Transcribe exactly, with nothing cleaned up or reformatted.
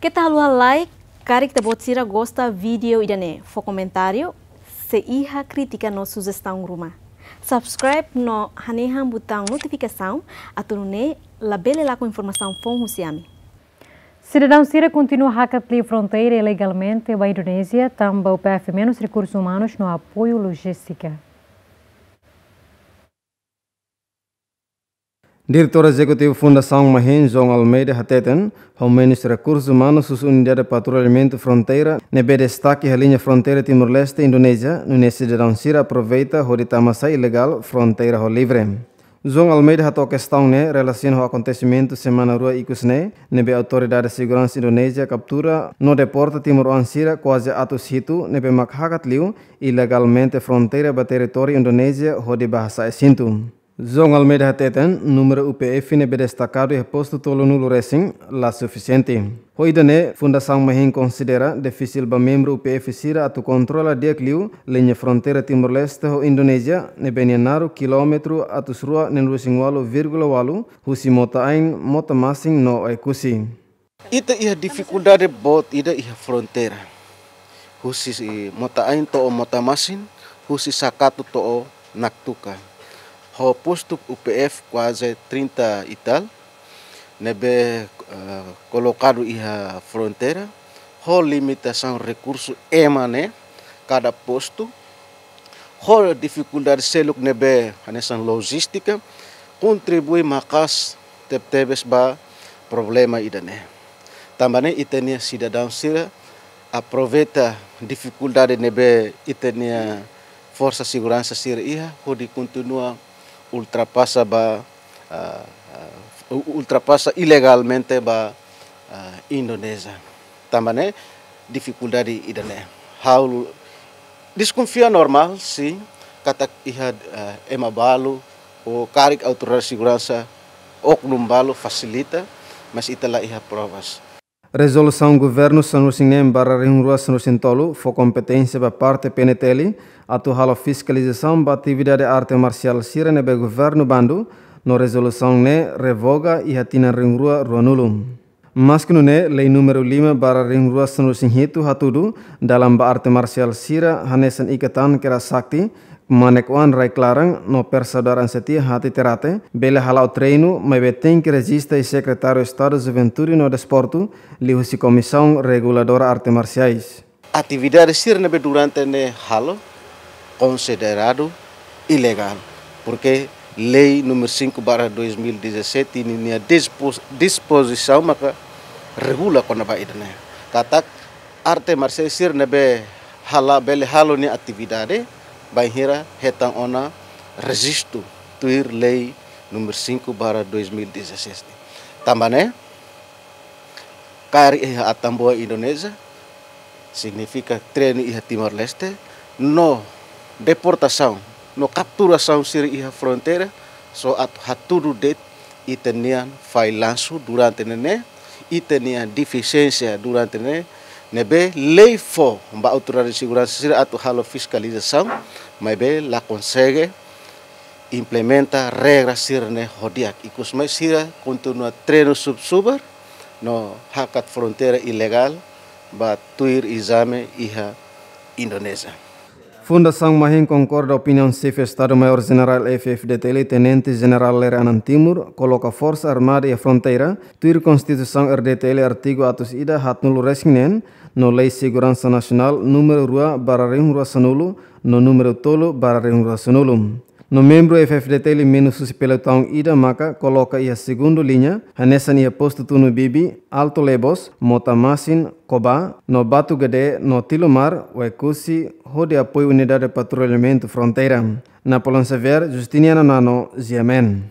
Keta haluha like, karik ita-boot sira gosta vídeo ida-ne'e, fó komentáriu, se iha krítika no sujestaun ruma. Subscribe no hanehan butaun notifikasaun, atu nune'e labele lakon informasaun foun husi ami. Sidadaun sira kontinua hakat liu fronteira ilegalmente ba Indonézia, tanba U P F menus rekursus umanus no apoiu lojístika. Diretór Ezekutivu Fundasaun Mahin, João Almeida hateten, ho menus rekursus umanus husi Unidade Patrullamentu Fronteira ne'ebé destaka iha liña fronteira Timor-Leste, Indonézia, nune'e sidadaun sira aproveita hodi tama-sai ilegál fronteira ho livre. João Almeida hato'o kestaun ne'e relasiona ho akontesimentu semana rua ikus ne'e, ne'ebé Autoridade Seguransa Indonézia kaptura no deporta timoroan sira kuaze atus hitu ne'ebé mak hakat liu ilegalmente fronteira ba territóriu Indonézia hodi bá hasa'e sintu. João Almeida hateten, númeru U P F ne'ebé destakadu iha postu tolunulu resin la sufisiente. Ho ida-ne'e, Fundasaun Mahin konsidera difisil ba membru U P F sira atu kontrola di'ak liu liña fronteira Timor-Leste ho Indonézia, ne'ebé nia naruk kilómetru atus rua neenulu-resin-ualu vírgula ualu, husi Mota-Ain, Mota-Masin no Oekusi. Ita iha difikuldade boot ida iha fronteira. Husi Mota-Ain to'o Mota-Masin, husi Sakatu to'o Naktuka. Ho postu U P F kuaze trinta e tal, ne'ebé, eh, kolokadu iha fronteira, ho limitasaun rekursu ema ne'e, kada postu, ho difikuldade seluk ne'ebé hanesan lojístika, kontribui maka'as tebetebes ba problema ida-ne'e. Tanba ne'e ita-nia sidadaun sira aproveita difikuldade ne'ebé ita-nia forsa seguransa sira iha, hodi kontinua ultrapasa ba, ah, ah, u-, ultrapasa ilegalmente ba, ah, Indonézia. Tanba ne'e difikuldade ida-ne'e. Ha'u deskonfia normál, sin, katak iha, ah, ema balu, ou karik autoridade seguransa, oknum balu fasilita, mas ita la iha provas. Rezolusaun Governu sanulu-resin-neen barra rihun rua sanulu-resin-tolu fó kompeténsia ba parte P N T L atu halo fiskalizasaun ba atividade arte marsiál sira ne'ebé Governu bandu, no rezolusaun ne'e revoga iha tinan rihun rua ruanulu. Maske nune'e, lei númeru lima barra rihun rua sanulu-resin-hitu hatudu, dalan ba arte marsiál sira hanesan ikatan kera sakti, kmanek-oan rai-klaran no persaudaran setia hati terate, bele hala'o treinu, maibé tenke rejista iha Sekretáriu Estadu Juventude no Desportu, liuhusi Komisaun Reguladora Arte Marsiais. Atividade sira ne'ebé durante ne'e halo konsideradu ilegál, porque lei númeru cinco barra dois mil e dezassete ninia dispo-, dispozisaun maka regula kona-ba ida-ne'e. Katak arte marsiál sira ne'ebé hala'o, bele halo nia atividade, bainhira hetan ona rejistu tuir lei númeru cinco barra dois mil e dezassete. Tanba ne'e, kaer iha Atambua Indonézia, signifika treinu iha Timor-Leste, no deportasaun, no kapturasaun sira iha fronteira, só atu hatudu de'it ita-nia fallansu durante ne'e, ita-nia defisiénsia durante ne'e, ne'ebé lei fó ba autoridade seguransa sira atu halo fiskalizasaun, maibé la konsege implementa regra sira-ne'e ho di'ak. Ikusmai sira kontinua treinu sub-subar, no hakat fronteira ilegál, ba tuir ezame iha Indonézia. Fundasaun Mahin konkorda opiniaun Xefe Estadu Maiór Jenerál F-FDTL, Tenente Jenerál Lere Anan Timur, koloka Forsa Armada iha fronteira, tuir Konstituisaun R D T L artigu atus ida haatnulu-resin-neen, no Lei Seguransa Nasionál númeru rua barra rihun rua sanulu, no númeru tolu barra rihun rua sanulu. No membru F-FDTL menus husi pelotaun ida maka koloka iha segundu liña, hanesan iha postu Tunu Bibi, Alto Lebos, Mota Masin, Koba, no Batu Gedé, no Tilomar, Oekusi, hodi apoiu unidade patrullamentu fronteira. Napoleão Xavier, Justiniano Nano, G M N.